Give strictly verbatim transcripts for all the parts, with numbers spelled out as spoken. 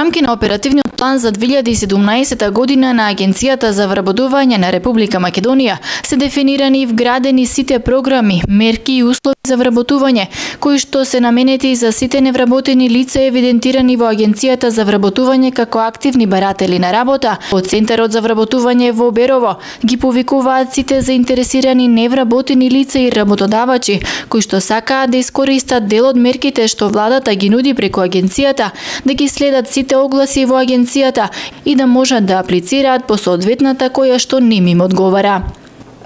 рамки на оперативниот план за две илјади и седумнаесета година на Агенцијата за вработување на Република Македонија се дефинирани и вградени сите програми, мерки и услови за вработување, кои што се наменети за сите невработени лица евидентирани во Агенцијата за вработување како активни баратели на работа. Од Центарот за вработување во Берово ги повикуваат сите заинтересирани невработени лица и работодавачи кои што сакаат да искористат дел од мерките што владата ги нуди преку агенцијата, да ги следат сите огласи во агенцијата и да можат да аплицираат по соодветната која што ним им одговара.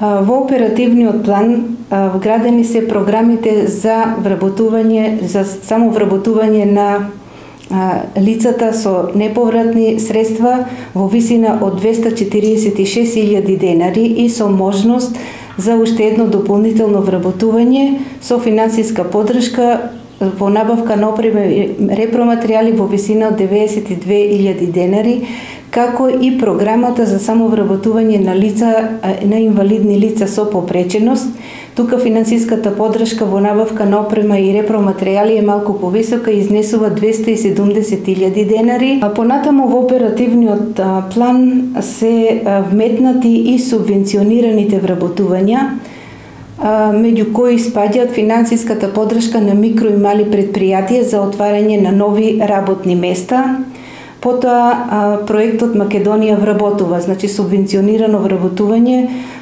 Во оперативниот план вградени се програмите за вработување, за само вработување на лицата со неповратни средства во висина од двесте четиридесет и шест илјади денари и со можност за уште едно дополнително вработување со финансиска поддршка во набавка на опрема и репроматеријали во висина од деветдесет и две илјади денари, како и програмата за самовработување на лица, на инвалидни лица со попреченост. Тука финансиската поддршка во набавка на опрема и репроматеријали е малку повисока и изнесува двесте и седумдесет илјади денари. А понатаму во оперативниот план се вметнати и субвенционираните вработувања, меѓу кои спаѓаат финансиската поддршка на микро и мали предпријатија за отварање на нови работни места. Потоа проектот Македонија вработува, значи субвенционирано вработување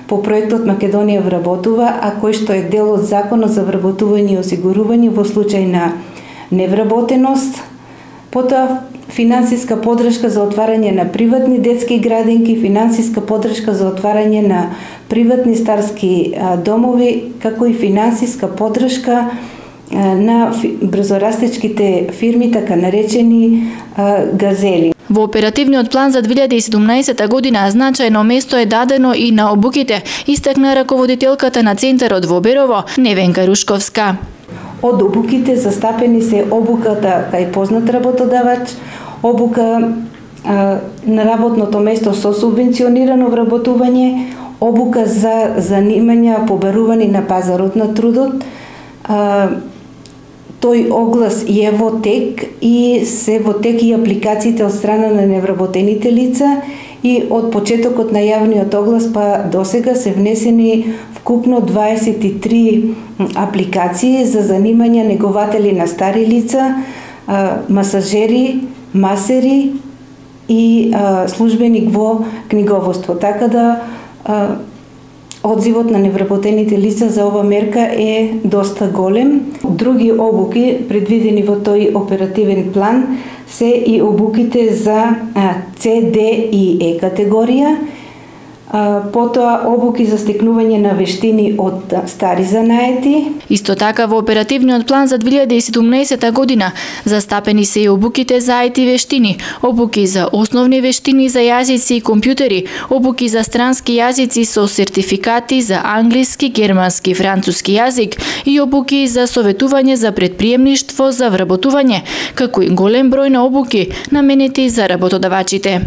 по проектот Македонија вработува, а кој што е дел од Законот за вработување и осигурување во случај на невработеност. Потоа финансиска поддршка за отварање на приватни детски градинки, финансиска поддршка за отварање на приватни старски домови, како и финансиска поддршка на брзорастечките фирми, така наречени газели. Во оперативниот план за две илјади и седумнаесета година значајно место е дадено и на обуките, истакна раководителката на Центарот во Берово, Невенка Рушковска. Од обуките застапени се обуката кај познат работодавач, обука а, на работното место со субвенционирано вработување, обука за занимања побарувани на пазарот на трудот. А, тој оглас е во тек и се во тек и апликациите од страна на невработените лица и од почетокот на јавниот оглас па досега се внесени вкупно дваесет и три апликации за занимања негователи на стари лица, масажери, масери и службеник во книговодство. Така да одзивот на невработените лица за ова мерка е доста голем. Други обуки предвидени во тој оперативен план се и обуките за С, Д и Е категорија, потоа обуки за стекнување на вештини од стари занаети. Исто така во оперативниот план за две илјади и седумнаесета година застапени се и обуките за ај ти вештини, обуки за основни вештини за јазици и компјутери, обуки за странски јазици со сертификати за англиски, германски, француски јазик и обуки за советување за предприемништво за вработување, како и голем број на обуки наменети за работодавачите.